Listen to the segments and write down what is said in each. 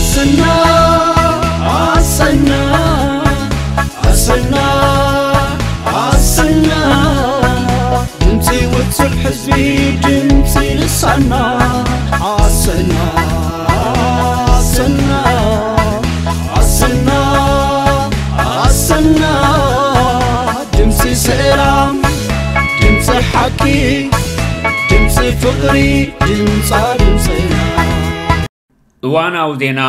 ኣሰና ኣሰና ኣሰና ኣሰና ድምፂ ውፅዕ ህዝቢ ድምፂ ልሳና ኣሰና ኣሰና ኣሰና ኣሰና ድምፂ ሰላም ድምፂ ሓቂ ድምፂ ፍቕሪ ድምፃ ድምፅና። እዋናዊ ዜና።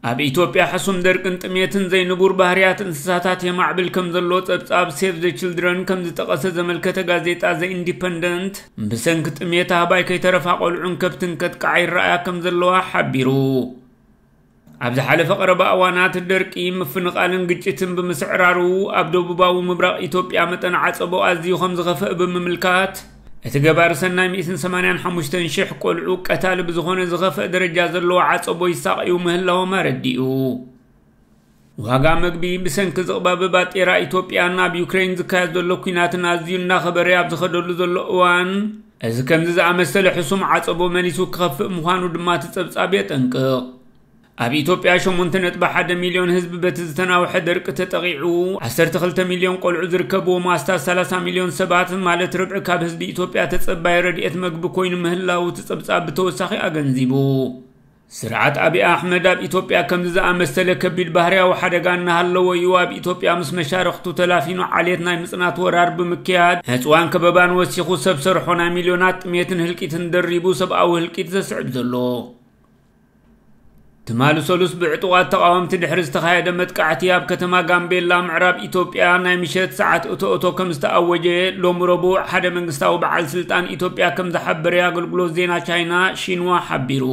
ኣብ ኢትዮጵያ ሕሱም ደርቅን ጥሜትን ዘይንቡር ባህርያት እንስሳታት የማዕብል ከም ዘሎ ጸብጻብ ሴቭ ዘ ችልድረን ከም ዝጠቐሰ ዘመልከተ ጋዜጣ ዘ ኢንዲፐንደንት፣ ብሰንኪ ጥሜት ኣህባይ ከይተረፋ ቆልዑን ከብትን ከጥቅዓ ይረኣያ ከም ዘለዋ ሓቢሩ። ኣብ ዝሓለፈ ቀረባ እዋናት ደርቂ፣ ምፍንቓልን ግጭትን ብምስዕራሩ ኣብ ደቡባዊ ምብራቕ ኢትዮጵያ መጠን ዓጸቦ ኣዝዩ ከም ዝኸፍእ ብምምልካት፣ እቲ ገባሪ ሰናይ ሚእትን ሰማንያን ሓሙሽተን ሽሕ ቆልዑ ቀታሊ ብዝኾነ ዝኸፍእ ደረጃ ዘለዎ ዓጸቦ ይሳቐዩ ምህላዎም ኣረዲኡ። ዋጋ መግቢ ብሰንኪ ዝቕባበ ባጤራ ኢትዮጵያን ኣብ ዩክሬን ዝካየድ ዘሎ ኲናትን ኣዝዩ እናኸበረ ኣብ ዝኸደሉ ዘሎ እዋን፣ እዚ ከምዚ ዝኣመሰለ ሕሱም ዓጸቦ መሊሱ ክኸፍእ ምዃኑ ድማ እቲ ጸብጻብ የጠንቅቕ። ኣብ ኢትዮጵያ ሸሞንተ ነጥቢ ሓደ ሚልዮን ህዝቢ በቲ ዝተናውሐ ደርቂ ተጠቒዑ፣ ዓሰርተ ክልተ ሚልዮን ቆልዑ ዝርከብዎም ኣስታት ሰላሳ ሚልዮን ሰባት፣ ማለት ርብዒ ካብ ህዝቢ ኢትዮጵያ፣ ተጸባይ ረድኤት መግቢ ኮይኑ ምህላዉ እቲ ጸብጻብ ብተወሳኺ ኣገንዚቡ። ስርዓት ኣብይ ኣሕመድ ኣብ ኢትዮጵያ ከምዚ ዝኣመሰለ ከቢድ ባህርያዊ ሓደጋ እናሃለዎ እዩ ኣብ ኢትዮጵያ ምስ መሻርኽቱ ተላፊኑ ዓሌት ናይ ምጽናት ወራር ብምክያድ፣ ዕጽዋን ከበባን ወሲኹ ሰብ ሰርሖ ናይ ሚልዮናት ጥሜትን ህልቂትን ደሪቡ ሰብኣዊ ህልቂት ዘስዕብ ዘሎ። ትማሊ ሰሉስ ብዕጡቓት ተቓወምቲ ድሕሪ ዝተኻየደ መጥቃዕቲ ኣብ ከተማ ጋምቤላ ምዕራብ ኢትዮጵያ ናይ ምሸት ሰዓት እቶ እቶ ከም ዝተኣወጀ ሎሚ ረቡዕ ሓደ መንግስታዊ በዓል ስልጣን ኢትዮጵያ ከም ዝሓበረ ኣገልግሎት ዜና ቻይና ሺንዋ ሓቢሩ።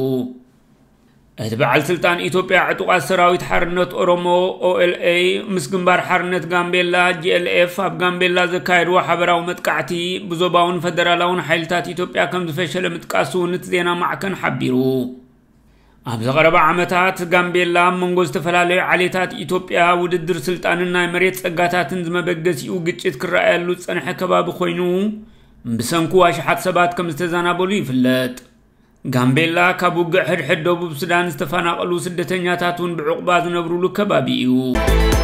እቲ በዓል ስልጣን ኢትዮጵያ ዕጡቓት ሰራዊት ሓርነት ኦሮሞ ኦኤልኤ ምስ ግንባር ሓርነት ጋምቤላ ጂኤልኤፍ ኣብ ጋምቤላ ዘካየድዎ ሓበራዊ መጥቃዕቲ ብዞባውን ፈደራላውን ሓይልታት ኢትዮጵያ ከም ዝፈሸለ ምጥቃሱ እቲ ዜና ማዕከን ሓቢሩ። ኣብዚ ቀረባ ዓመታት ጋምቤላ ኣብ መንጎ ዝተፈላለዩ ዓሌታት ኢትዮጵያ ውድድር ስልጣንን ናይ መሬት ጸጋታትን ዝመበገሲኡ ግጭት ክረኣየሉ ዝጸንሐ ከባቢ ኮይኑ፣ ብሰንኩ ኣሽሓት ሰባት ከም ዝተዛናበሉ ይፍለጥ። ጋምቤላ ካብ ውግእ ሕድሕድ ደቡብ ሱዳን ዝተፈናቐሉ ስደተኛታት እውን ብዕቑባ ዝነብሩሉ ከባቢ እዩ።